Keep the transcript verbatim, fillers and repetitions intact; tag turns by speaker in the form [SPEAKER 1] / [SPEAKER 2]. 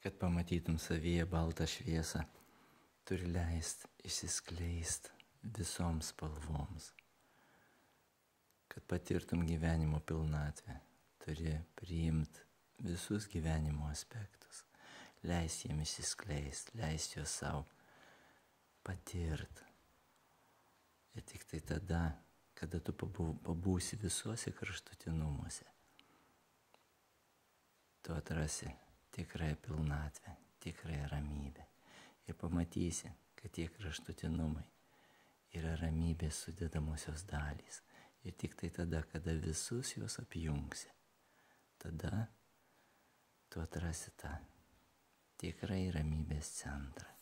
[SPEAKER 1] kad pamatytum savyje baltą šviesą, turi leist išsiskleist visoms spalvoms. Kad patirtum gyvenimo pilnatvę, turi priimt visus gyvenimo aspektus, leist jiems išsiskleist, leist juos savo patirt. Ir tik tai tada, kada tu pabūsi visuose kraštutinumuose, tu atrasi tikrąją pilnatvę, tikrąją ramybę. Ir pamatysi, kad tie kraštutinumai yra ramybės sudedamosios dalys. Ir tik tai tada, kada visus juos apjungsi, tada tu atrasi tą tikrai ramybės centrą.